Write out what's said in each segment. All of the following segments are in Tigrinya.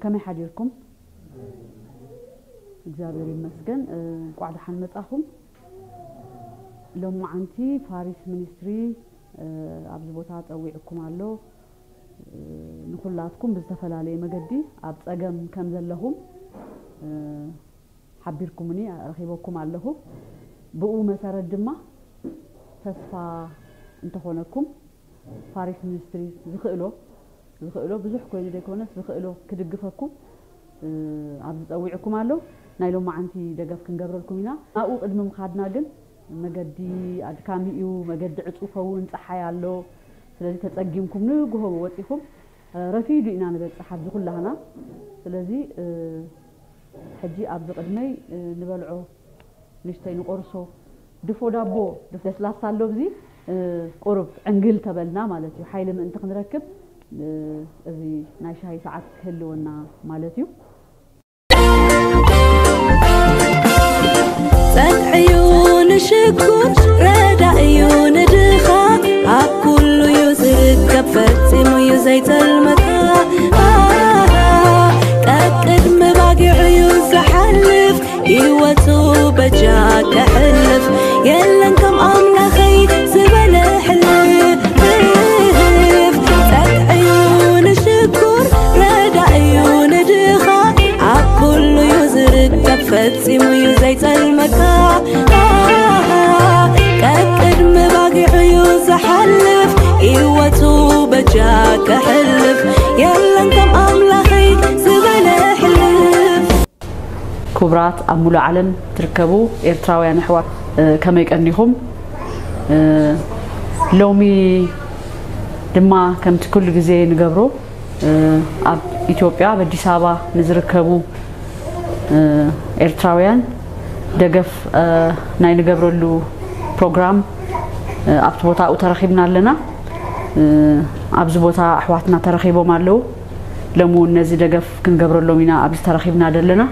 ከመይ ሓዲርኩም? እግዚኣብሔር ይመስገን። እንቋዕ ደሓን መጻኹም። ሎማዓንቲ ፋሪስ ሚኒስትሪ ኣብዚ ቦታ ጸዊዕኩም ኣሎ። ንኹላትኩም ብዝተፈላለየ መገዲ ኣብ ጸገም ከም ዘለኹም ሓቢርኩምኒ፣ ረኺበኩም ኣለኹ። ብኡ መሰረት ድማ ተስፋ እንተኾነኩም ፋሪስ ሚኒስትሪ ዝኽእሎ ዝኽእሎ ብዙሕ ኮይኑ ዘይኮነስ ዝኽእሎ ክድግፈኩም ኣብ ዝጸዊዕኩም ኣሎ። ናይ ሎማዓንቲ ደገፍ ክንገብረልኩም ኢና። ናብኡ ቅድሚ ምኻድና ግን መገዲ ኣድካሚ እዩ። መገዲ ዕጹ ኸውን፣ ጸሓይ ኣሎ። ስለዚ ተጸጊምኩም ንግሆ ወጺኹም ረፊዱ ኢና ንበጽሕ ኣብዚ ኩላህና። ስለዚ ሕጂ ኣብዚ ቅድመይ ንበልዖ ንሽተይ ንቆርሶ ድፎ ዳቦ ለስላሳ ኣሎ። ኣብዚ ቁሩብ ዕንግል ተበልና ማለት እዩ፣ ሓይሊ ምእንቲ ክንረክብ እዚ ናይ ሻሂ ሰዓት ክህልወና ማለት እዩ። ጸግዒ እዩ ንሽኩር፣ ረዳእ እዩ ንድኻ፣ ኣብ ኩሉ እዩ ዝርከብ፣ ፈጺሙ እዩ ዘይጸልመካ። ቀቅድሚ ባጊዑ እዩ ዝሓልፍ፣ ህይወቱ በጃ ከሕልፍ፣ የለን ከም ኣምላኸይ ዝበለ ሕልፍ። ጸግዒ እዩ ንሽኩር፣ ረዳእ እዩ ንድኻ፣ ኣብ ኩሉ እዩ ዝርከብ፣ ፈጺሙ እዩ ዘይጸልመካ። ቀቅድሚ ባጊዑ እዩ ዝሓልፍ፣ ህይወቱ በጃ ከሕልፍ፣ የለን ከም ኣምላኸይ ዝበለ ሕልፍ። ክቡራት ኣብ ሙሉእ ዓለም ትርከቡ ኤርትራውያን ኣሕዋት፣ ከመይ ቀኒኹም? ሎሚ ድማ ከምቲ ኩሉ ግዜ ንገብሮ ኣብ ኢትዮጵያ ኣብ ኣዲስ ኣበባ ንዝርከቡ ኤርትራውያን ደገፍ ናይ ንገብረሉ ፕሮግራም ኣብቲ ቦታኡ ተረኺብና ኣለና። ኣብዚ ቦታ ኣሕዋትና ተረኺቦም ኣለዉ። ሎሚ እውን ነዚ ደገፍ ክንገብረሎም ኢና ኣብዚ ተረኺብና ዘለና።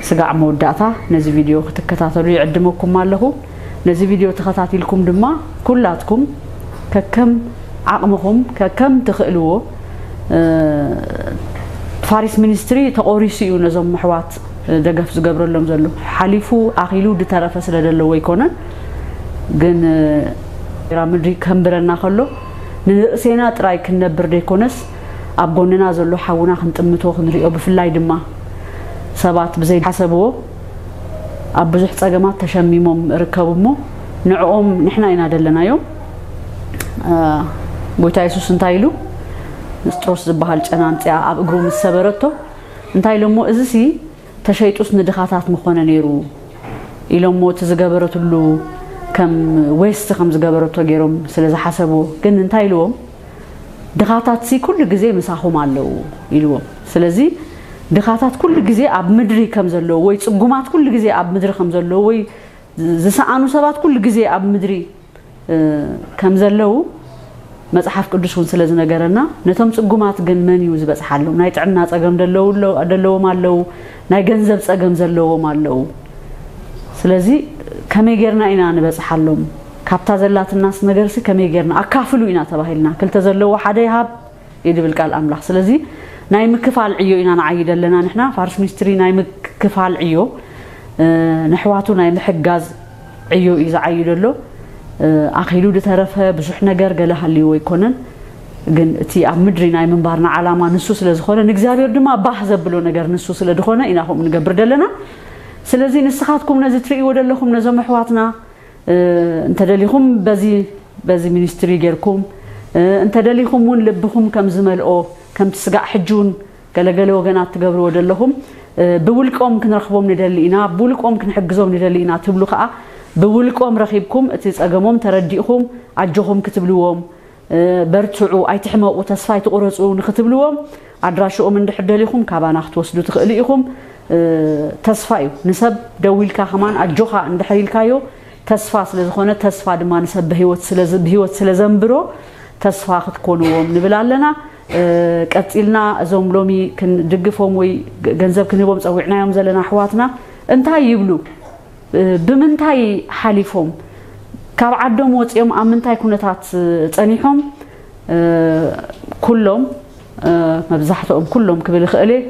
ስጋዕ መወዳእታ ነዚ ቪድዮ ክትከታተሉ ይዕድመኩም ኣለኹ። ነዚ ቪድዮ ተኸታቲልኩም ድማ ኩላትኩም ከከም ዓቕምኹም ከከም ትኽእልዎ፣ ፋሪስ ሚኒስትሪ ተቖሪሱ እዩ ነዞም ኣሕዋት ደገፍ ዝገብረሎም ዘሎ። ሓሊፉ ኣኺሉ ዝተረፈ ስለ ዘለዎ ኣይኮነን። ግን ኤራ ምድሪ ከንብረና ከሎ ንርእሴና ጥራይ ክንነብር ዘይኮነስ ኣብ ጎንና ዘሎ ሓውና ክንጥምቶ ክንሪኦ፣ ብፍላይ ድማ ሰባት ብዘይሓሰብዎ ኣብ ብዙሕ ጸገማት ተሸሚሞም እርከቡ እሞ ንዕኦም ንሕና ኢና ደለናዮም። ጎይታ የሱስ እንታይ ኢሉ? ንስጥሮስ ዝበሃል ጨና ኣምጺኣ ኣብ እግሩ ምስ ሰበረቶ እንታይ ኢሎሞ? እዚሲ ተሸይጡስ ንድኻታት ምኾነ ነይሩ ኢሎሞ፣ እቲ ዝገበረትሉ ከም ዌስት ከም ዝገበረቶ ገይሮም ስለ ዝሓሰብዎ። ግን እንታይ ኢልዎም? ድኻታትሲ ኩሉ ግዜ ምሳኹም ኣለዉ ኢልዎም። ስለዚ ድኻታት ኩሉ ግዜ ኣብ ምድሪ ከም ዘለዉ ወይ ጽጉማት ኩሉ ግዜ ኣብ ምድሪ ከም ዘለዉ ወይ ዝሰኣኑ ሰባት ኩሉ ግዜ ኣብ ምድሪ ከም ዘለዉ መጽሓፍ ቅዱስ እውን ስለ ዝነገረና፣ ነቶም ጽጉማት ግን መን እዩ ዝበጽሓሎም? ናይ ጥዕና ጸገም ደለዎም ኣለዉ፣ ናይ ገንዘብ ጸገም ዘለዎም ኣለዉ። ስለዚ ከመይ ጌርና ኢና ንበጽሓሎም? ካብታ ዘላትናስ ነገርሲ ከመይ ጌርና? ኣካፍሉ ኢና ተባሂልና። ክልተ ዘለዎ ሓደ ይሃብ እዩ ድብል ቃል ኣምላኽ። ስለዚ ናይ ምክፋል ዕዮ ኢና ንዓይድ ኣለና ንሕና። ፋርስ ሚኒስትሪ ናይ ምክፋል ዕዮ፣ ንኣሕዋቱ ናይ ምሕጋዝ ዕዮ እዩ ዝዓዩ ዘሎ። ኣኺሉ ዝተረፈ ብዙሕ ነገር ገለ ሃልይዎ ኣይኮነን። ግን እቲ ኣብ ምድሪ ናይ ምንባርና ዓላማ ንሱ ስለ ዝኾነ፣ ንእግዚኣብሔር ድማ ባህ ዘብሎ ነገር ንሱ ስለ ዝኾነ ኢና ከምኡ ንገብር ዘለና። ስለዚ ንስኻትኩም ነዚ ትርእይዎ ዘለኹም ነዞም ኣሕዋትና እንተደሊኹም በዚ በዚ ሚኒስትሪ ጌርኩም፣ እንተደሊኹም እውን ልብኹም ከም ዝመልኦ፣ ከምቲ ስጋዕ ሕጂ እውን ገለገለ ወገናት ትገብርዎ ዘለኹም፣ ብውልቆም ክንረኽቦም ንደሊ ኢና፣ ብውልቆም ክንሕግዞም ንደሊ ኢና ትብሉ ከኣ ብውልቆም ረኺብኩም እቲ ጸገሞም ተረዲእኹም ኣጆኹም ክትብልዎም፣ በርትዑ፣ ኣይትሕመቑ፣ ተስፋ ኣይትቑረጹ ንክትብልዎም ኣድራሽኦም እንድሕር ደሊኹም ካባና ክትወስዱ ትኽእሉ ኢኹም። ተስፋ እዩ። ንሰብ ደዊልካ ከማን ኣጆኻ እንድሕር ኢልካዮ ተስፋ ስለ ዝኾነ፣ ተስፋ ድማ ንሰብ ብህይወት ስለ ዘንብሮ ተስፋ ክትኮንዎም ንብል ኣለና። ቀጺልና እዞም ሎሚ ክንድግፎም ወይ ገንዘብ ክንህቦም ጸዊዕናዮም ዘለና ኣሕዋትና እንታይ ይብሉ? ብምንታይ ሓሊፎም? ካብ ዓዶም ወጺኦም ኣብ ምንታይ ኩነታት ጸኒሖም? ኩሎም፣ መብዛሕትኦም ኩሎም ክብል እኽእል እየ፣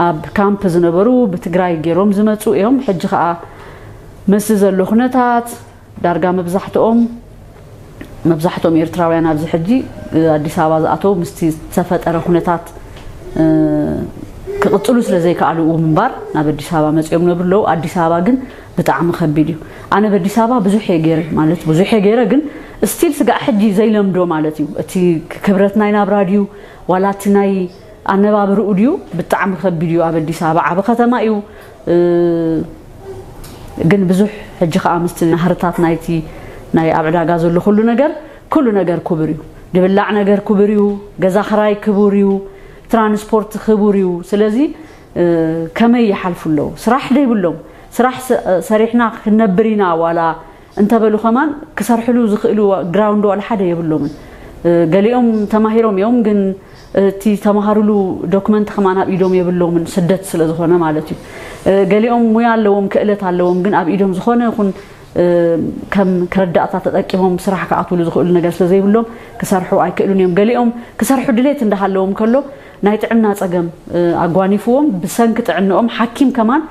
ኣብ ካምፕ ዝነበሩ ብትግራይ ገይሮም ዝመጹ እዮም። ሕጂ ኸኣ ምስ ዘሎ ኩነታት ዳርጋ መብዛሕትኦም መብዛሕትኦም ኤርትራውያን ኣብዚ ሕጂ ኣዲስ ኣበባ ዝኣተው ምስቲ ዝተፈጠረ ኩነታት ክቕጽሉ ስለ ዘይከኣሉ እውን እምበር ናብ ኣዲስ ኣበባ መጺኦም ነብሩ ኣለዉ። ኣዲስ ኣበባ ግን ብጣዕሚ ከቢድ እዩ። ኣነ በዲስ ኣበባ ብዙሕ እየ ገይረ፣ ማለት ብዙሕ እየ ገይረ፣ ግን ስቲል ስጋዕ ሕጂ ዘይለምዶ ማለት እዩ። እቲ ክብረት ናይ ናብራ ድዩ ዋላ እቲ ናይ ኣነባብርኡ ድዩ ብጣዕሚ ከቢድ እዩ። ኣብ ኣዲስ ኣበባ ዓቢ ከተማ እዩ። ግን ብዙሕ ሕጂ ከኣ ምስቲ ናህርታት ናይቲ ናይ ኣብ ዕዳጋ ዘሎ ኩሉ ነገር፣ ኩሉ ነገር ክቡር እዩ። ድብላዕ ነገር ክቡር እዩ። ገዛ ክራይ ክቡር እዩ። ትራንስፖርት ክቡር እዩ። ስለዚ ከመይ ይሓልፉ ኣለዉ? ስራሕ ደይብሎም፣ ስራሕ ሰሪሕና ክንነብር ኢና ዋላ እንተበሉ ከማን ክሰርሕሉ ዝኽእሉ ግራውንድ ዋላ ሓደ የብሎምን። ገሊኦም ተማሂሮም እዮም፣ ግን እቲ ተማሃሩሉ ዶክመንት ከማን ኣብ ኢዶም የብሎምን፣ ስደት ስለ ዝኾነ ማለት እዩ። ገሊኦም ሙያ ኣለዎም፣ ክእለት ኣለዎም፣ ግን ኣብ ኢዶም ዝኾነ ይኹን ከም ከረዳእታ ተጠቂሞም ስራሕ ክኣትውሉ ዝኽእሉ ነገር ስለ ዘይብሎም ክሰርሑ ኣይክእሉን እዮም። ገሊኦም ክሰርሑ ድሌት እንዳሃለዎም ከሎ ናይ ጥዕና ጸገም ኣጓኒፍዎም ብሰንኪ ጥዕንኦም ሓኪም ከማን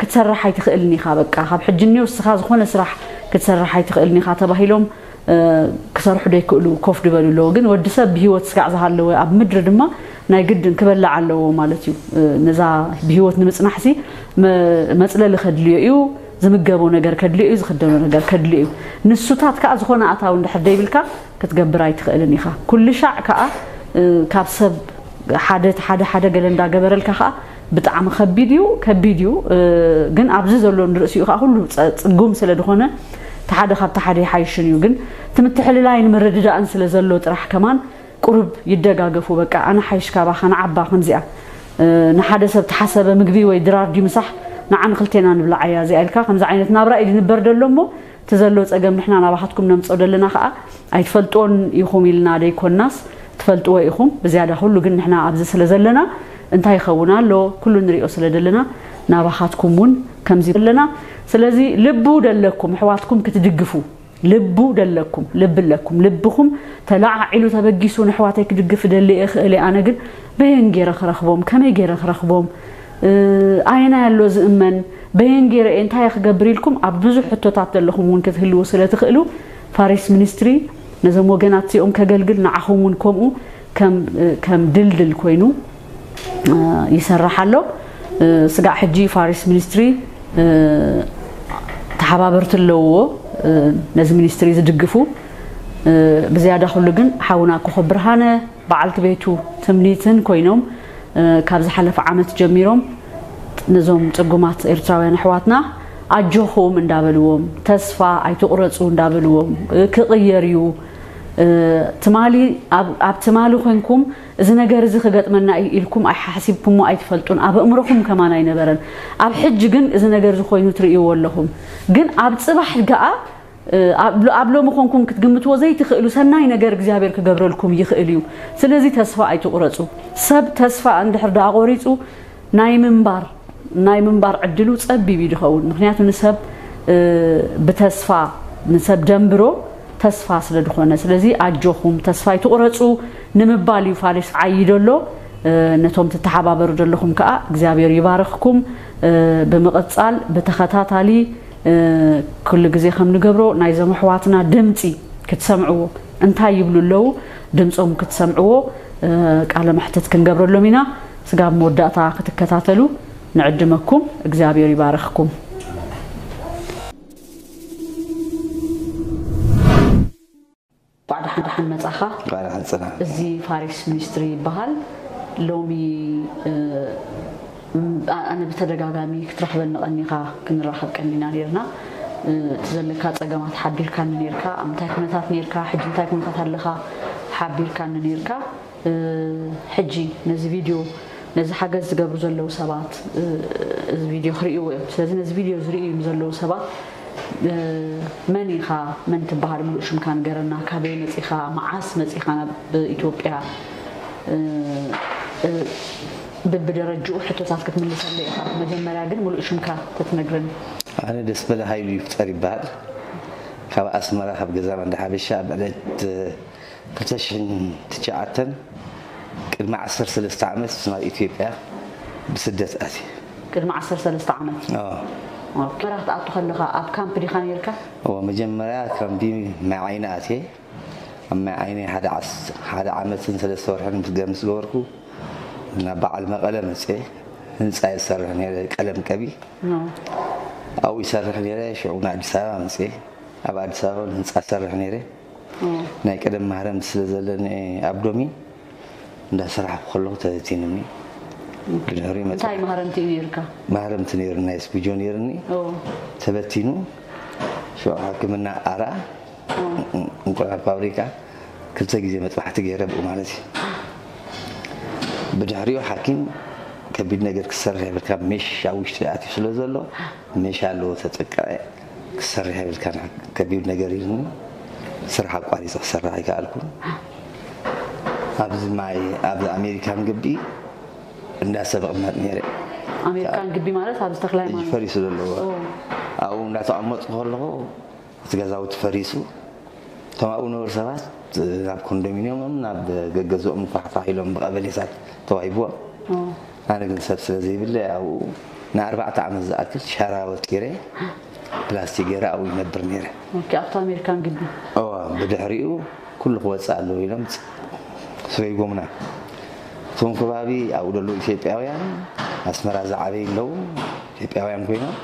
ክትሰርሕ ኣይትኽእልን ኢኻ። በቃ ካብ ሕጂ እኒኦ እስኻ ዝኾነ ስራሕ ክትሰርሕ ኣይትኽእልን ኢኻ ተባሂሎም ክሰርሑ ደይክእሉ ኮፍ ድበሉ ኣለዉ። ግን ወዲ ሰብ ብህይወት ስጋዕ ዝሃለወ ኣብ ምድሪ ድማ ናይ ግድን ክበልዕ ኣለዎ ማለት እዩ። ነዛ ብህይወት ንምጽናሕሲ መጽለሊ ከድልዮ እዩ፣ ዝምገቦ ነገር ከድልዮ እዩ፣ ዝኽደኖ ነገር ከድልዮ እዩ። ንሱታት ከኣ ዝኾነ ኣታዊ እንድሕር ደይብልካ ክትገብር ኣይትኽእልን ኢኻ። ኩሉ ሻዕ ከኣ ካብ ሰብ ሓደ ሓደ ሓደ ገለ እንዳገበረልካ ከኣ ብጣዕሚ ከቢድ እዩ፣ ከቢድ እዩ። ግን ኣብዚ ዘሎ ንርእሲኡ ከኣ ኩሉ ጽጉም ስለ ዝኾነ እቲ ሓደ ካብቲ ሓደ ይሓይሽን እዩ። ግን እቲ ምትሕልላይን ምርድዳእን ስለ ዘሎ ጥራሕ ከማን ቁሩብ ይደጋገፉ። በቃ ኣነ ሓይሽ ካባኻ ንዓባ ከምዚኣ ንሓደ ሰብ ተሓሰበ ምግቢ ወይ ድራር ድዩ ምሳሕ ንዓ ንክልቴና ንብላዓያ እዚኣ ኢልካ ከምዚ ዓይነት ናብራ እዩ ዝንበር ደሎ እሞ እቲ ዘሎ ጸገም ንሕና ናባኻትኩም ነምጽኦ ደለና ከኣ ኣይትፈልጥዎን ኢኹም ኢልና ደይኮንናስ ትፈልጥዎ ኢኹም ብዝያዳ ኩሉ ግን ንሕና ኣብዚ ስለ ዘለና እንታይ ይኸውን ኣሎ ኩሉ ንሪኦ ስለ ደለና ናባኻትኩም እውን ከምዚ ኣለና። ስለዚ ልቡ ደለኩም ኣሕዋትኩም ክትድግፉ ልቡ ደለኩም ልቢ ኣለኩም ልብኹም ተለዓዒሉ ተበጊሱ ንኣሕዋተይ ክድግፍ እደሊ እየ ክእል እየ ኣነ ግን በየን ገይረ ክረኽቦም ከመይ ገይረ ክረኽቦም ኣየናይ ኣሎ ዝእመን በየን ገይረ እየ እንታይ እየ ክገብር ኢልኩም ኣብ ብዙሕ ሕቶታት ዘለኹም እውን ክትህልዉ ስለ ትኽእሉ ፋሪስ ሚኒስትሪ ነዞም ወገናት እዚኦም ከገልግል ንዓኹም እውን ከምኡ ከም ድልድል ኮይኑ ይሰርሕ ኣሎ። ስጋዕ ሕጂ ፋሪስ ሚኒስትሪ ተሓባበርቲ ኣለውዎ ነዚ ሚኒስትሪ ዝድግፉ። ብዝያዳ ኩሉ ግን ሓውና ኮኾብ ብርሃነ በዓልቲ ቤቱ ትምኒትን ኮይኖም ካብ ዝሓለፈ ዓመት ጀሚሮም ነዞም ጽጉማት ኤርትራውያን ኣሕዋትና ኣጆኹም እንዳበልዎም ተስፋ ኣይትቑረጹ እንዳበልዎም ክቕየር እዩ ትማሊ ኣብ ትማሊ ኮንኩም እዚ ነገር እዚ ክገጥመና እዩ ኢልኩም ኣይሓሲብኩሞ ኣይትፈልጡን ኣብ ኣእምሮኹም ከማን ኣይነበረን ኣብ ሕጂ ግን እዚ ነገር እዚ ኮይኑ ትርእይዎ ኣለኹም ግን ኣብ ጽባሕ ገኣ ኣብ ሎሚ ኮንኩም ክትግምትዎ ዘይትኽእሉ ሰናይ ነገር እግዚኣብሔር ክገብረልኩም ይኽእል እዩ ስለዚ ተስፋ ኣይትቑረፁ ሰብ ተስፋ እንድሕር ደኣ ቆሪፁ ናይ ምንባር ናይ ምንባር ዕድሉ ጸቢብ እዩ ድኸውን ምክንያቱ ንሰብ ብተስፋ ንሰብ ደንብሮ ተስፋ ስለ ድኾነ ስለዚ ኣጆኹም ተስፋ ኣይትቑረፁ ንምባል እዩ ፋሪስ ዓይዶ ኣሎ ነቶም ትተሓባበሩ ዘለኹም ከዓ እግዚኣብሔር ይባርኽኩም ብምቕፃል ብተኸታታሊ ኩሉ ግዜ ከም ንገብሮ ናይዞም ኣሕዋትና ድምፂ ክትሰምዕዎ እንታይ ይብሉ ኣለዉ ድምፆም ክትሰምዕዎ ቃለ መሕትት ክንገብረሎም ኢና ስጋብ መወዳእታ ክትከታተሉ ንዕድመኩም እግዚኣብሔር ይባርኽኩም ባዕዳ ሓንዳሓን መጻኻ ቃል ሓጽና እዚ ፋሪስ ሚኒስትሪ ይበሃል ሎሚ ኣነ ብተደጋጋሚ ክትረኽበኒ ቀኒኻ ክንራኸብ ቀኒና ነርና እቲ ዘለካ ጸገማት ሓቢርካኒ ኔርካ፣ ኣብ እንታይ ኩነታት ኔርካ፣ ሕጂ እንታይ ኩነታት ኣለኻ ሓቢርካኒ ኔርካ። ሕጂ ነዚ ቪድዮ፣ ነዚ ሓገዝ ዝገብሩ ዘለዉ ሰባት እዚ ቪድዮ ክርእይዎ እዮም። ስለዚ ነዚ ቪድዮ ዝርእዩ ዘለዉ ሰባት መን ኢኻ፣ መን ትበሃል፣ ምሉእ ሽምካ ንገረና፣ ካበይ መጺኻ፣ መዓስ መጺኻ ናብ ኢትዮጵያ፣ ብብደረጅኡ ሕቶታት ክትምልሰለይ ኢኻ። መጀመርያ ግን ምሉእ ሽምካ ተትነግረኒ። ኣነ ደስበለ ሃይሉ ይፍጠር ይበሃል። ካብ ኣስመራ፣ ካብ ገዛ ማንዳ ሓበሻ፣ ኣብ ዕለት ክልተ ሽሕን ትሽዓተን፣ ቅድሚ ዓሰርተ ሰለስተ ዓመት ናብ ኢትዮጵያ ብስደት ኣትየ። ቅድሚ ዓሰርተ ሰለስተ ዓመት? ኣዎ። ኦኬ። ኣስመራ ክትኣቱ ከለኻ ኣብ ካምፕ ዲኻ ነይርካ? እዎ፣ መጀመርያ ካምፕ ማይ ዓይኒ ኣትየ። ኣብ ማይ ዓይኒ ሓደ ዓስ-፣ ሓደ ዓመትን ሰለስተ ወርሕን ምስ ገ-፣ ምስ ገበርኩ፣ ናብ በዓል መቐለ መፅየ። ህንፃ ይሰርሕ ነይረ፣ ቀለም ቀቢ። ኖ። ኣብኡ ይሰርሕ ነይረ። ሽዑ ንኣዲስ ኣበባ መፅየ። ኣብ ኣዲስ ኣበባ እውን ህንፃ ሰርሕ ነይረ። ኦ። ናይ ቀደም ማህረምቲ ስለ ዘለኒ ኣብ ዶሚ እንዳሰራሕኩ ከለኹ ተበቲኑኒ። ብድሕሪኡ መፅእ። እንታይ ማህረምቲ እዩ ነይርካ? ማህረምቲ ነይሩ፣ ናይ ስፒጆ ነይርኒ። ኦ። ተበቲኑ። ሽዑ ሕክምና ኣራ፣ ኦ። እንቁላል ፋብሪካ ክልተ ግዜ መጥባሕቲ ገይረ ብኡ ማለት እዩ። ብድሕሪኡ ሓኪም ከቢድ ነገር ክትሰርሕ የብልካ፣ ሜሽ ኣብ ውሽጢ ኣትዩ ስለ ዘሎ፣ ሜሽ ኣለዎ ተጠቅዐ፣ ክትሰርሕ የብልካ፣ ከቢድ ነገር ኢሉኒ፣ ስራሕ ኣቋሪፀ ክሰርሕ ኣይከኣልኩን። ኣብዚ ማይ፣ ኣብዚ ኣሜሪካን ግቢ እንዳ ሰብ እቕመጥ ነይረ። ኣሜሪካን ግቢ ማለት ኣብዚ ተክለ ሃይማኖት? ፈሪሱ ዘለዎ። ኦ። ኣብኡ እንዳተቐመጥኩ ከለኹ እቲ ገዛውቲ ፈሪሱ፣ እቶም ኣብኡ ነበሩ ሰባት ናብ ኮንዶሚንየሞም፣ ናብ ገገዝኦም ንፋሕፋሕ ኢሎም ብቐበሌታት ተዋሂብዎም። ኦ። ኣነ ግን ሰብ ስለ ዘይብለ ኣብኡ ንኣርባዕተ ዓመት ዝኣክል ሸራወት ገይረ፣ ፕላስቲክ ገይረ ኣብኡ ይነብር ነይረ። ኦኬ፣ ኣብቲ ኣሜሪካን ግቢ? እዋ፣ ብድሕሪኡ ኩሉ ክወፅእ ኣለዎ ኢሎም ሰጉሞምና። እቶም ከባቢ ኣብኡ ዘለዉ ኢትዮጵያውያን፣ ኣስመራ ዝዓበዩ ኣለዉ፣ ኢትዮጵያውያን ኮይኖም፣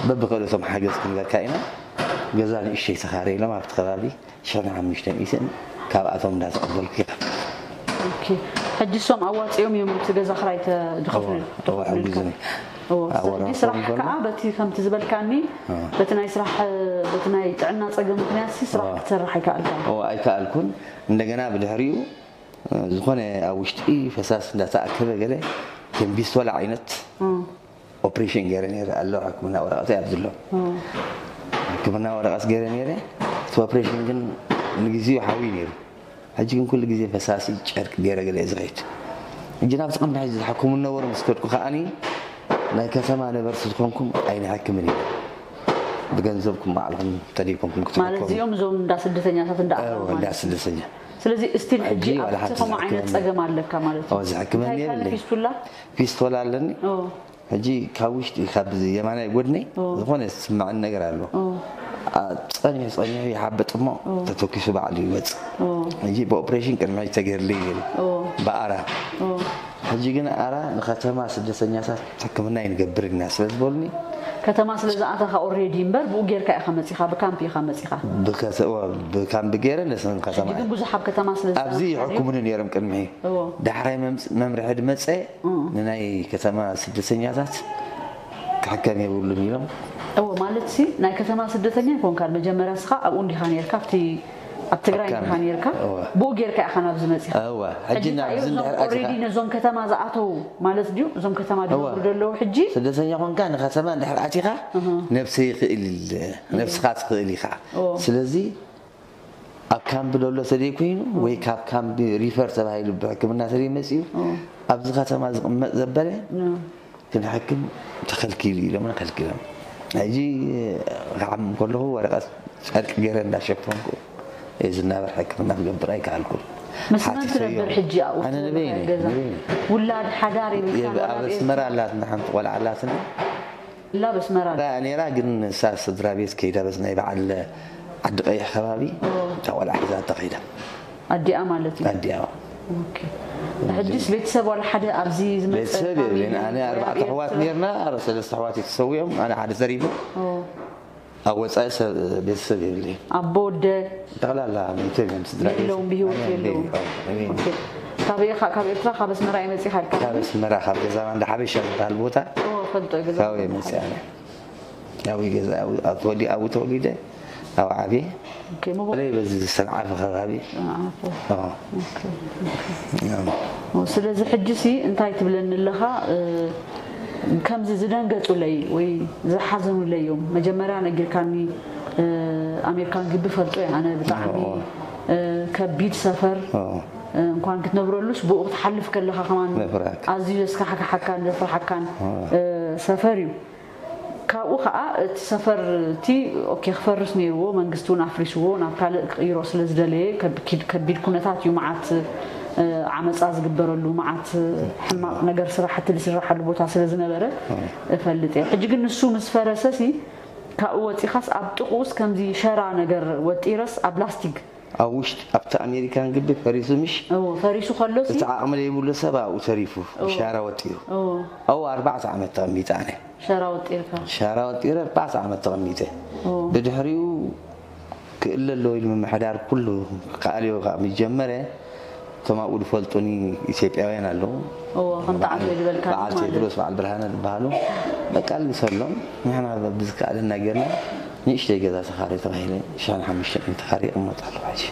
በብክእለቶም ሓገዝ ክንበካ ኢና። ገዛ ንእሽተይ ተኻረ ኢሎም ኣብቲ ከባቢ ሽሕን ሓሙሽተ ሚእትን፣ ካብኣቶም እንዳተቐበልኩ ይኸፍል። ኦኬ። ሕጂ እሶም ኣዋፂኦም እዮም እቲ ገዛ ክራይ ተ-፣ ዝኸፍሉ? እዋ፣ እዋ፣ ሓጊዙኒ። እዎ፣ ኣብ ሕጂ ወርሒ ስራሕ ከሎ። ከዓ በቲ ከምቲ ዝበልካኒ፣ እዋ። በቲ ናይ ስራሕ፣ በቲ ናይ ጥዕና ፀገም ምክንያት ሲ ስራሕ እዋ። ክትሰርሕ ኣይከኣልካን? እዋ፣ ኣይከኣልኩን። እንደገና ብድሕሪኡ፣ እ፣ ዝኾነ ኣብ ውሽጢ ፈሳሲ እንዳተኣከበ ገለ ከም ቢስቶላ ዓይነት እም። ኦፕሬሽን ገይረ ነይረ ኣሎ፣ ሕክምና ወረቐት ኣብዚ ኣሎ። እም። ሕክምና ወረቐት ገይረ ነይረ። እቲ ኦፕሬሽን ግን ንግዜኡ ሓዊ ነይሩ። ሕጂ ግን ኩሉ ግዜ ፈሳሲ ጨርቂ ገይረ ገለ እየ ዝኸይድ። ሕጂ ናብቲ ቅድሚ ሕጂ ዝሕክሙ ነበሩ ምስ ከድኩ ከኣኒ ናይ ከተማ ነበርቲ ዝኾንኩም ኣይንሕክምን ኢና። ብገንዘብኩም ባዕልኹም ተደይኮንኩም ማለት ክትሕከሙ። እዚኦም እዞም እንዳ ስደተኛታት እንዳ ኣተው እዎ፣ ማለት እንዳ እዩ። ስደተኛ። ስለዚ እስቲል ሕጂ ሕጂ ዋላ ኣብቲ ሓንቲ ከምኡ ዓይነት ዝሕክመኒ ጸገም ኣለካ ማለት እዩ። እዎ፣ ዝሕክመኒ እንታይ ይባሃል? የብለይ። ፊስቱላ? ፊስቶላ ኣለኒ። እዎ። ሕጂ ካብ ውሽጢ፣ ካብ የማናይ ጎድነይ እዎ። ዝኾነ ዝስምዐኒ ነገር ኣሎ። እዎ። ኣ፣ ጸኒሑ፣ ጸኒሑ ይሓብጥ እሞ እዎ። ተተኪሱ ባዕሉ ይወጽእ። እዎ። ሕጂ ብኦፕሬሽን ቅድሚ ሕጂ ተገይርለይ ነይሩ። እዎ። ብኣራ። እዎ። ሕጂ ግን ኣራ ንከተማ ስደተኛታት ሕክምና ይንገብር ኢና ስለ ዝበሉኒ። ከተማ ስለ ዝኣተኻ ኦልሬዲ እምበር ብኡ ጌርካ ኢኻ መጺኻ፣ ብካምፕ ኢኻ መጺኻ። ብከተ-፣ እዎ፣ ብካምፕ ገይረ ነስን ከተማ ሕጂ ግን እየ። ብዙሕ ኣብ ከተማ ስለ ኣብዚ ዝኣተኻ ድዩ? ይሕክሙኒ ነይሮም ቅድሚ። እዎ። ዳሕራይ መምጽ-፣ መምርሒ ድመጸ እም። ንናይ ከተማ ስደተኛታት ክሕከም የብሉን ኢሎም። እዎ፣ ማለት ሲ ናይ ከተማ ስደተኛ ኣይኮንካን። መጀመርያ ንስኻ ኣብኡ እንዲኻ ነይርካ፣ ኣብቲ ኣብ ትግራይ ኣብ እንዲኻ ካምፕ። ነይርካ፣ እዎ። ብኡ ጌርካ ኢኻ ናብዚ መጺኻ። እዎ፣ ሕጂ ሕጂ እንታይ ናብዚ እዩ? እዞም እንድሕር ኣቲኻ ኦልሬዲ ነዞም ከተማ ዝኣተው ማለት ድዩ? እዞም ከተማ እዎ። ዝነብሩ ዘለዉ ሕጂ? ስደተኛ ኮንካ ንከተማ እንድሕር ኣቲኻ እህ። ነብሰይ ይኽእል ኢለ፣ እህ። ነብስኻ ትኽእል ኢኻ። እዎ። ስለዚ ኣብ ካምፕ ደሎ ተደይ ኮይኑ እዎ። ወይ ካብ ካምፕ ሪፈር ተባሂሉ ብሕክምና ተደይ መጺኡ እዎ። ኣብዚ ከተማ ዝቕመጥ ዘበለ እዎ። ክንሕክም ተኸልኪሉ ኢሎምና ከልኪሎም። ሕጂ ክሓምም ከለኹ ወረቐት ጨርቂ ገይረ እንዳሸፈንኩ እየ ዝናበር፣ ሕክምና ክገብር ኣይከኣልኩን። ምስ መን ሓቲተዮ። ትነብር ሕጂ ኣብኡ ኣነ ትነብር ንበይነይ፣ ገዛ? ንበይነይ። ውላድ ሓዳር የብልካን የብ-፣ ወላ ኣብ ኣብ ኣስመራ ኤርትራ? ኣላትና ሓንቲ ቆልዓ ኣላትና። ላ በስመራ? ራ-፣ ነይራ ግን ንሳ ስድራ ቤት ከይዳ በዚ ናይ በዓል ዓዲ ቀይሕ ከባቢ ኦ። እታ ቆልዓ ሒዛ ተኸይዳ። ኣዲኣ ማለት እዩ? ኣዲኣ። ኦኬ። ሕጂስ ቤተሰብ ዋላ ሓደ ኣብዚ ዝመጸ ቤተሰብ ካበይ የብለይን። ኣነ ኣርባዕተ ወይ ኣሕዋት ኣበይ ኔርና፣ ኣረ-፣ ሰለስተ ኣሕዋት ተሰዊኦም፣ ኣነ ሓደ ተሪፉ። ኦ። ኣብ ወጻኢ ሰብ፣ ቤተሰብ የብለይን። ኣቦ፣ ወደ? ጠቕላላ ሞይቶም እዮም፣ ስድራ ቤት። የለውን፣ ብህይወት ማንም የለውን። የብለይን። ኦኬ። ካበይ ኢኻ፣ ካብ ኤርትራ፣ ካብ ኣስመራ እዩ መጺኻ ኢልካ? ካብ ኣስመራ፣ ካብ ገዛ ማንዳ ሓበሻ ዝበሃል ቦታ። ኦ፣ ፈልጦ፣ ገዛ ካብኡ ማንዳ እየ መጺኣ። ሓበሻ። ኣብኡ ገዛ ኣብኡ ተወሊደ ኣብኡ ተወሊደ ኣብኡ ዓብየ። ኦኬ፣ ምቦ በተለይ በዚ ሰንዓፈ ከባቢ ዓፎ። ኣዎ። ኦኬ፣ ኦኬ። ያው ኦ፣ ስለዚ ሕጂ ሲ እንታይ ትብለኒ ኣለኻ? እ፣ ከምዚ ዝደንገጹለይ ወይ ዝሓዘኑለይ እዮም። መጀመርያ ነጊርካኒ፣ እ፣ ኣሜሪካን ግቢ ፈልጦ እየ ኣነ ብጣዕሚ፣ ኦ። እ፣ ከቢድ ሰፈር፣ ኦ። እ፣ እንኳን ክትነብረሉስ ብኡ ክትሓልፍ ከለኻ ከማን መፍራሕካ። ኣዝዩ ዘስካሕክሓካን ዘፍርሓካን፣ ኦ። እ፣ ሰፈር እዩ። ካብኡ ኸዓ እቲ ሰፈር እቲ ኦኬ ክፈርስ ነይርዎ፣ መንግስቲ እውን ኣፍሪስዎ ናብ ካልእ ክቕይሮ ስለ ዝደለየ ከቢድ ኩነታት እዩ። መዓት ዓመፃ ዝግበረሉ፣ መዓት ሕማቕ ነገር፣ ስራሕቲ ዝስራሓሉ ቦታ ስለ ዝነበረ እፈልጥ እየ። ሕጂ ግን ንሱ ምስ ፈረሰሲ ካብኡ ወፂኻስ ኣብ ጥቕኡስ ከምዚ ሸራ ነገር ወጢረስ ኣብ ላስቲክ ኣብ ውሽጢ ኣብቲ ኣሜሪካን ግቢ ፈሪሱ ምሽ እዎ፣ ፈሪሱ ከሎሲ እቲ ዓቕሚ ዘይብሉ ሰብ ኣብኡ ተሪፉ እዎ። ብሻራ ወጢሩ እዎ፣ ኣብኡ ኣርባዕተ ዓመት ተቐሚጠ ኣነ ሸራ ወጢርካ ሻራ ወጢረ ኣርባዕተ ዓመት ተቐሚጠ እዎ። ብድሕሪኡ ክእለ ኣለዎ ኢሉ ምምሕዳር ኩሉ ክኣልዮ ካብ ምስ ጀመረ እቶም ኣብኡ ዝፈልጡኒ ኢትዮጵያውያን ኣለዉ እዎ፣ ከምቲ ዓብዮ ዝበልካ በዓል ማለት ቴድሮስ በዓል ብርሃነ ዝበሃሉ በቃ ልግሰሎም ንሕና ብዝከኣለና ጌርና ንእሽተይ ገዛ ተኻሪ ተባሂለ ሽሕን ሓሙሽተ ሚእትን ተኻሪ ይቕመጥ ኣለኹ ሕጂ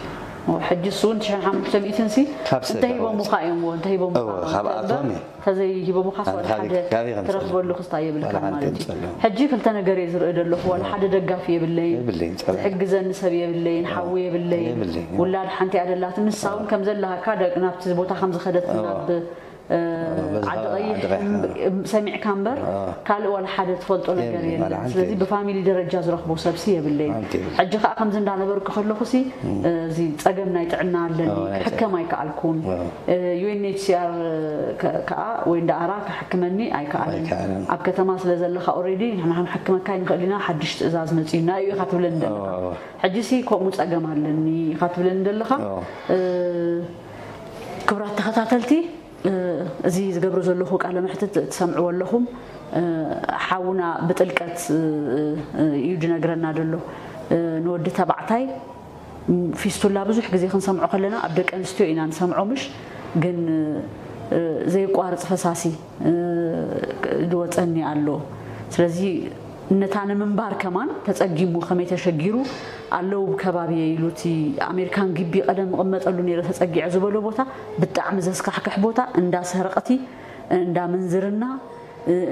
እዎ፣ ሕጂ እሱ እውን ትሽዓን ሓሙሽተ ሚእትን ሲ ካብ ሰብ እንተሂቦሙኻ እዮም እዎ፣ እንተሂቦሙኻ እዎ፣ ካብኣቶም እዮም። ተዘይሂቦሙኻ ኣነ ወላ ካበይ- ሓደ ካበይ ከም ትረኽበሉ ዝፈልጥ ክስታይ የብልካ ወላ ሓደ ማለት እዩ። ይምጸሎም። ሕጂ ክልተ ነገር እየ ዝርኢ ዘለኹ፣ ዋላ ሓደ ደጋፊ የብለይን፣ የብለይን፣ ጸላኢ። ዝሕግዘኒ ሰብ የብለይን፣ ሓዊ የብለይን፣ የብለይን። ውላድ ሓንቲ ኣደላትን ንሳ እውን ከም ዘለሃካ ደቂ ናብቲ ቦታ ከም ዝኸደት እዎ። ናብ እ፣ በዚ ዓዲ ከባቢ ቀይሕ ዓዲ ቀይሕ፣ እም- ሰሚዕካ እምበር እዎ። ካልእ ዋላ ሓደ ትፈልጦ ነገር የብለይን፣ የለን። ዋላ ሓንቲ ስለዚ የብለይን። ብፋሚሊ ደረጃ ዝረኽቦ ሰብሲ የብለይን። ሓንቲ የብለይን። ሕጂ ከዓ ከምዚ እንዳነበርኩ ከለኹሲ እዚ ፀገም ናይ ጥዕና ኣለኒ እዎ፣ ናይ ክሕከም ኣይከኣልኩን። እዎ። ዩ ኤን ኤች ሲ ኣር ከዓ ወይ እንዳኣራ ክሕክመኒ ኣይከኣለን። ኣይከኣለን። ኣብ ከተማ ስለ ዘለኻ ኦልሬዲ ንሕና ክንሕክመካ ንኽእል ኢና፣ ሓድሽ ትእዛዝ መፂኡና እዩ ኢኻ ትብለኒ ዘለኻ። እዎ፣ እዎ። ሕጂሲ ከምኡ ፀገም ኣለኒ ኢኻ ትብለኒ ዘለኻ። እዎ። እ፣ ክቡራት ተኸታተልቲ፣ እ፣ እዚ ዝገብሮ ዘለኹ ቃለ መሕትት ትሰምዕዎ ኣለኹም። እ፣ ሓውና ብጥልቀት፣ እ፣ እ፣ እዩ ዝነግረና ዘሎ። እ፣ ንወዲ ተባዕታይ፣ ም፣ ፊስቱላ ብዙሕ ግዜ ክንሰምዖ ከለና ኣብ ደቂ ኣንስትዮ ኢና ንሰምዖ፣ ምሽ ግን፣ እ፣ ዘየቋርጽ ፈሳሲ፣ እ፣ ዝወጸኒ ኣሎ። ስለዚ ነታ ንምንባር ከማን ተጸጊሙ ከመይ ተሸጊሩ ኣለዉ ብከባቢየ ኢሉ እቲ ኣሜሪካን ግቢ ቀደም እቕመጠሉ ነይረ ተጸጊዐ ዝበሎ ቦታ ብጣዕሚ ዘስካሕክሕ ቦታ፣ እንዳ ሰረቕቲ፣ እንዳ ምንዝርና፣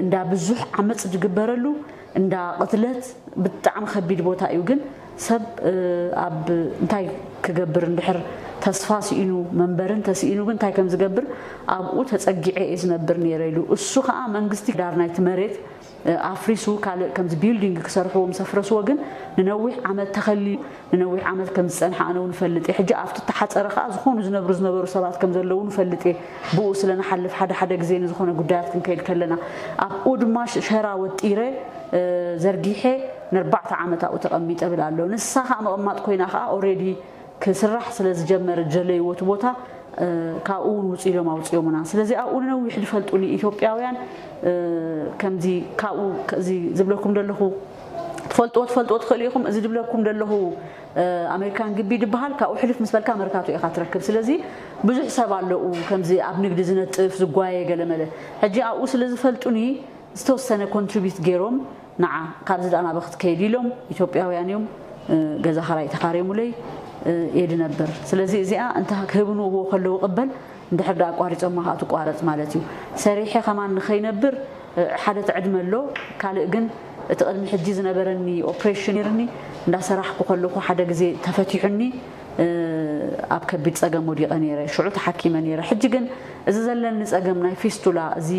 እንዳ ብዙሕ ዓመፅ ዝግበረሉ፣ እንዳ ቅትለት ብጣዕሚ ከቢድ ቦታ እዩ። ግን ሰብ ኣብ እንታይ ክገብር እንድሕር ተስፋ ስኢኑ መንበርን ተስኢኑ ግን እንታይ ከም ዝገብር ኣብኡ ተጸጊዐ እየ ዝነብር ነይረ ኢሉ። እሱ ከዓ መንግስቲ ዳር ናይቲ መሬት ኣፍሪሱ ካልእ ከምዚ ቢልዲንግ ክሰርሕዎ ምስ ኣፍረስዎ ግን ንነዊሕ ዓመት ተኸሊሉ ንነዊሕ ዓመት ከም ዝጸንሐ ኣነ እውን እፈልጥ እየ። ሕጂ ኣብቲ እተሓጸረ ከኣ ዝኾኑ ዝነብሩ ዝነበሩ ሰባት ከም ዘለዉ እውን እፈልጥ እየ። ብኡ ስለ ንሓልፍ ሓደ ሓደ ግዜ ንዝኾነ ጉዳያት ክንከይድ ከለና ኣብኡ ድማ ሸራ ወጢረ ዘርጊሐ ንኣርባዕተ ዓመት ኣብኡ ተቐሚጠ እብል ኣሎ። ንሳ ከኣ ምቕማጥ ኮይና ከኣ ኦሬዲ ክስራሕ ስለ ዝጀመረ ዝደለይዎ እቲ ቦታ ካብኡ እውን ውፁ ኢሎም ኣውፅኦምና። ስለዚ ኣብኡ ንነዊሕ ዝፈልጡኒ ኢትዮጵያውያን ከምዚ ካብኡ እዚ ዝብለኩም ዘለኹ ትፈልጥዎ ትፈልጥዎ ትኽእሉ ኢኹም። እዚ ዝብለኩም ዘለኹ ኣሜሪካን ግቢ ዝበሃል ካብኡ ሕልፍ ምስ በልካ መርካቶ ኢኻ ትረክብ። ስለዚ ብዙሕ ሰብ ኣለኡ ከምዚ ኣብ ንግዲ ዝነጥፍ ዝጓየ ገለመለ። ሕጂ ኣብኡ ስለ ዝፈልጡኒ ዝተወሰነ ኮንትሪቢት ገይሮም ንዓ ካብዚ ደኣ ናበ ክትከይድ ኢሎም ኢትዮጵያውያን እዮም ገዛ ኻራይ ተኻርዮምለይ እየ ዝነብር። ስለዚ እዚኣ እንተ ክህብንዎ ከለዉ ቅበል እንድሕር ደኣ ኣቋሪጾማ ከዓ ትቋረጽ ማለት እዩ። ሰሪሐ ከማን ንኸይነብር ሓደ ትዕድመ ኣሎ። ካልእ ግን እቲ ቅድሚ ሕጂ ዝነበረኒ ኦፕሬሽን ነይርኒ እንዳሰራሕኩ ከለኹ ሓደ ግዜ ተፈቲሑኒ ኣብ ከቢድ ጸገም ወዲቐ ነይረ። ሽዑ ተሓኪመ ነይረ። ሕጂ ግን እዚ ዘለኒ ጸገም ናይ ፊስቱላ እዚ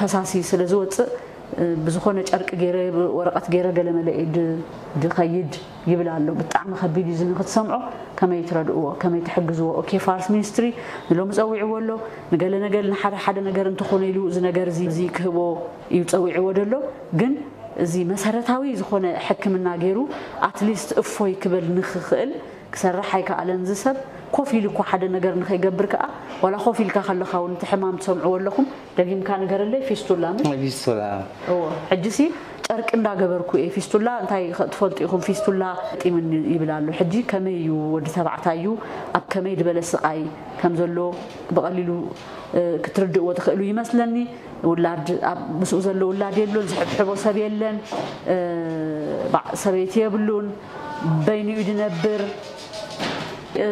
ፈሳሲ ስለ ዝወጽእ ብዝኾነ ጨርቂ ገይረ ወረቐት ገይረ ገለመለ እየ ድኸይድ ይብል ኣሎ። ብጣዕሚ ከቢድ እዩ። እዚ ንክትሰምዖ ከመይ ትረድእዎ ከመይ ትሕግዝዎ? ኦኬ ፋርስ ሚኒስትሪ ንሎሚ ጸዊዕዎ ኣሎ ንገለ ነገል ንሓደ ሓደ ነገር እንተኾነ ኢሉ እዚ ነገር እዚ ክህቦ እዩ ጸዊዕዎ ደሎ። ግን እዚ መሰረታዊ ዝኾነ ሕክምና ገይሩ ኣትሊስት እፎይ ክብል ንክኽእል ክሰርሕ ኣይከኣለን። እዚ ሰብ ኮፍ ኢሉ እኳ ሓደ ነገር ንኸይገብር ከኣ ዋላ ኮፍ ኢልካ ከለኻ እውን እቲ ሕማም ትሰምዕዎ ኣለኹም። ደጊምካ ንገረለይ ፊስቱላ ምሽ? ፊስቱላ እዎ። ሕጂሲ ጨርቂ እንዳገበርኩ እየ ፊስቱላ እንታይ ትፈልጡ ኢኹም ፊስቱላ ጢምኒ ይብል ኣሎ። ሕጂ ከመይ እዩ ወዲ ተባዕታይ እዩ ኣብ ከመይ ዝበለ ስቓይ ከም ዘሎ ብቐሊሉ ክትርድእዎ ትኽእሉ ይመስለኒ። ውላድ ኣብ ምስኡ ዘሎ ውላድ የሎን፣ ዝሕብሕቦ ሰብ የለን፣ እ፣ ባዕ ሰበይቲ የብሉን፣ በይኑ እዩ ዝነብር። እ፣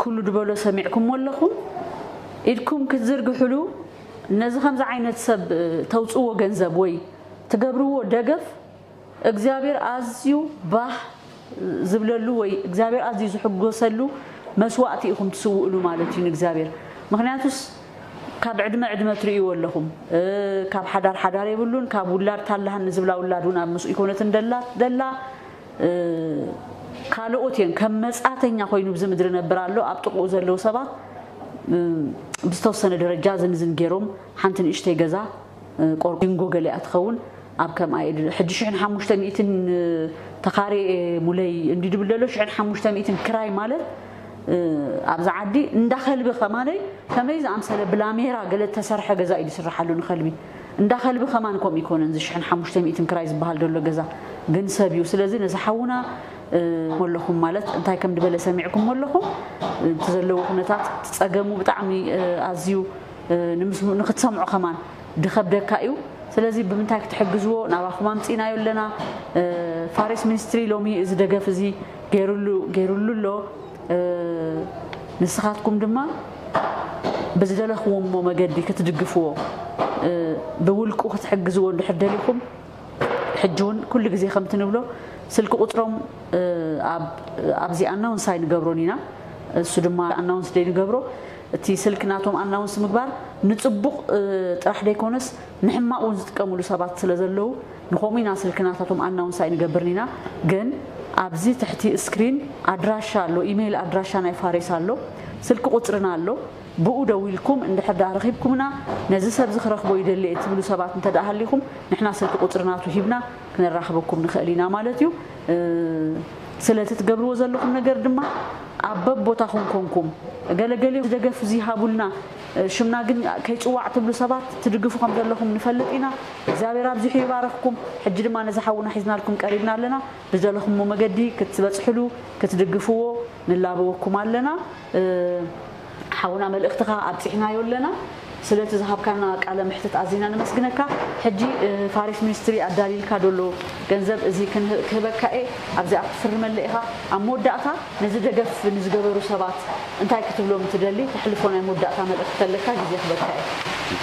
ኩሉ ዝበሎ ሰሚዕኩሞ ኣለኹም። ኢድኩም ክትዝርግሕሉ ነዚ ከምዚ ዓይነት ሰብ፣ እ፣ ተውፅዎ ገንዘብ ወይ ትገብርዎ ደገፍ እግዚኣብሔር ኣዝዩ ባህ ዝብለሉ ወይ እግዚኣብሔር ኣዝዩ ዝሕጎሰሉ መስዋእቲ ኢኹም ትስውእሉ ማለት እዩ ንእግዚኣብሔር። ምኽንያቱስ ካብ ዕድመ ዕድመ ትርእይዎ ኣለኹም። እ፣ ካብ ሓዳር ሓዳር የብሉን፣ ካብ ውላድ ታላሃኒ ዝብላ ውላድ እውን ኣብ ምስኡ ይኮነትን ደላ፣ ደላ፣ እ፣ ካልኦት እየን። ከም መጻተኛ ኮይኑ ብዚ ምድሪ ነብር ኣሎ። ኣብ ጥቕኡ ዘለዉ ሰባት፣ እ፣ ብዝተወሰነ ደረጃ ዝንዝን ገይሮም ሓንቲ ንእሽተይ ገዛ፣ እ፣ ቆርቆንጎ ገሊኣ ትኸውን ኣብ ከም ኣይ-፣ ሕጂ ሽሕን ሓሙሽተ ሚእትን ተኻሬ ሙለይ እንዲ ድብል ዘሎ ሽሕን ሓሙሽተ ሚእትን ክራይ ማለት፣ እ፣ ኣብዛ ዓዲ እንዳ ከልቢ ከማነይ ከመይ ዝኣምሰለ ብላሜራ ገለ ተሰርሐ ገዛ እዩ ዝስርሓሉ ንኸልቢ። እንዳ ከልቢ ከማን ከምኡ ይኮነን፣ እዚ ሽሕን ሓሙሽተ ሚእትን ክራይ ዝበሃል ዘሎ ገዛ ግን ሰብ እዩ። ስለዚ ነዚ ሓውና፣ እ፣ ኣለኹም ማለት እንታይ ከም ድበለ ሰሚዕኩም ኣለኹም። እቲ ዘለዎ ኩነታት፣ እቲ ጸገሙ ብጣዕሚ፣ እ፣ ኣዝዩ፣ እ፣ ንምስ-፣ ንክትሰምዖ ከማን ድኸብደካ እዩ። ስለዚ ብምንታይ ክትሕግዝዎ ናባኹም ኣምጺእናዮ ኣለና። እ፣ ፋሬስ ሚኒስትሪ ሎሚ እዚ ደገፍ እዚ ገይሩሉ፣ ገይሩሉ ኣሎ። እ፣ ንስኻትኩም ድማ ብዝደለኽዎ መገዲ ክትድግፍዎ፣ እ፣ ብውልቁ ክትሕግዝዎ እንድሕር ደሊኹም፣ ሕጂ እውን ኩሉ ግዜ ከምቲ ንብሎ ስልኪ ቁፅሮም፣ እ፣ ኣብ፣ ኣብዚ ኣናውንስ ኣይንገብሮን ኢና። እሱ ድማ ኣናውንስ ደይንገብሮ፣ እቲ ስልኪ ናቶም ኣናውንስ ምግባር ንፅቡቕ፣ እ፣ ጥራሕ ደይኮነስ ንሕማቕ እውን ዝጥቀምሉ ሰባት ስለ ዘለዉ ንኸምኡ ኢና ስልኪ ናታቶም ኣናውንስ ኣይንገብርን ኢና። ግን ኣብዚ ትሕቲ ስክሪን ኣድራሻ ኣሎ፣ ኢሜይል ኣድራሻ ናይ ፋሬስ ኣሎ፣ ስልኪ ቁፅርና ኣሎ። ብኡ ደዊልኩም እንድሕር ደኣ ረኺብኩምና ነዚ ሰብዚ ክረኽቦ ይደሊ እየ ትብሉ ሰባት እንተ ደኣ ሃሊኹም ንሕና ስልኪ ቁፅሪ ናቱ ሂብና ክነራኽበኩም ንኽእል ኢና ማለት እዩ። እ፣ ስለቲ ትገብርዎ ዘለኹም ነገር ድማ ኣብ በቦታኹም ኮንኩም ገለገሊኦም ደገፍ እዚ ሃቡልና፣ እ፣ ሽምና ግን ከይፅዋዕ ትብሉ ሰባት ትድግፉ ከም ዘለኹም ንፈልጥ ኢና። እግዚኣብሔር ኣብዚሑ ይባረኽኩም። ሕጂ ድማ ነዚ ሓውና ሒዝናልኩም ቀሪብና ኣለና። ብዝደለኹሞ መገዲ ክትበፅሕሉ ክትድግፍዎ ንላበወኩም ኣለና። እ፣ ሓውና መልእኽትኻ ኣብፂሕናዮ ኣለና። ስለቲ ዝሃብካና ቃለ መሕትት ኣዚና ነመስግነካ። ሕጂ፣ እ፣ ፋሬስ ሚኒስትሪ ኣዳሊልካ ደሎ ገንዘብ እዚ ክንህ-፣ ክህበካ እየ። ኣብዚኣ ክትፍርመለ ኢኻ። ኣብ መወዳእታ ነዚ ደገፍ ንዝገበሩ ሰባት እንታይ ክትብሎም ትደሊ? ተሕልፎ ናይ መወዳእታ መልእኽቲ ከለካ ግዜ ክህበካ እየ።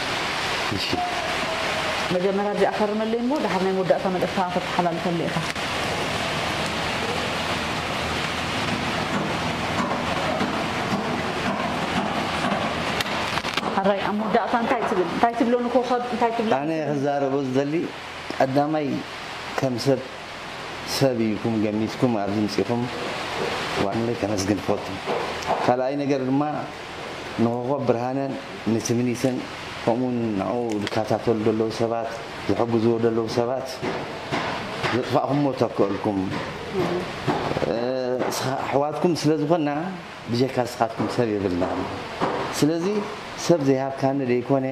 እሺ። መጀመርያ እዚኣ ፈርመለይ እሞ፣ ድሓር ናይ መወዳእታ መልእኽትኻ ከተሓላልፈለይ ኢኻ። ሕራይ፣ ኣብ መወዳእታ እንታይ ትብል? እንታይ ትብሎ ንኮኸብ? እንታይ ትብሎ? ኣነ ክዛረቦ ዝደሊ፣ ቀዳማይ ከም ሰብ፣ ሰብ ኢልኩም ገሚትኩም ኣብዚ ምጺኹም፣ ዋንለይ ከመስግን እፈቱ። ካልኣይ ነገር ድማ ንኮኸብ ብርሃነን ንትምኒትን ከምኡውን ንዕኡ ዝከታተሉ ዘለዉ ሰባት፣ ዝሕግዝዎ ዘለዉ ሰባት ዘጥፋእኩሞ ተክእልኩም። እ፣ ስኻ-፣ ኣሕዋትኩም ስለ ዝኾንና ብጀካ ስኻትኩም ሰብ የብልናን። ስለዚ ሰብ ዘይሃብካኒ ደይኮነ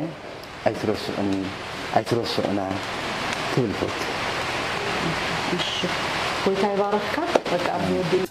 ኣይትረስዑኒ፣ ኣይትረስዑና ክብል እፈቱ። እሺ፣ ጎይታ ይባርኽካ። በቃ ኣብዚ ወዲእ